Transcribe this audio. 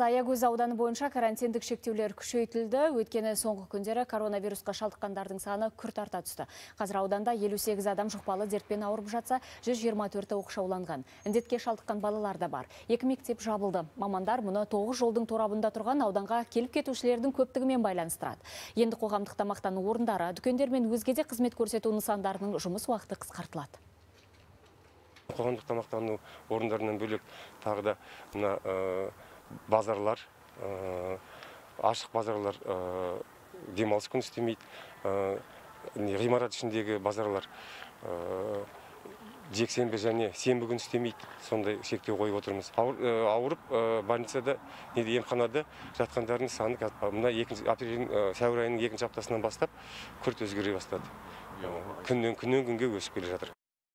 Аягөз ауданы бойынша карантиндік шектеулер күшейтілді. Өткені соңғы күндері коронавирусқа шалдыққандардың саны күрт арта түсті. Қазір ауданда 58 адам жұқпалы дертпен ауырып жатса, 124 оқшауланған. Індетке шалдыққан балалар да бар. 2 мектеп жабылды. Мамандар мұны 9 жолдың торабында тұрған ауданға келіп кетушілердің көптігімен байланыстырады. Енді қоғамдық тамақтану орындары, дүкендер мен өзге де қызмет көрсету нысандарының жұмыс уақыты қысқартылады. Қоғамдық тамақтану орындарынан бөлек тағы да базарлар, ашық базарлар демалыс күн істемейді. Ғимарат ішіндегі базарлар жексенбі және сенбі күн істемейді. Сондай шектеу қойып отырмыз. Ауырып больницада, емханада жатқандардың саны сәуір айының 2-ші аптасынан бастап күрт өзгере бастады. Күннен күнге өсіп келе жатыр.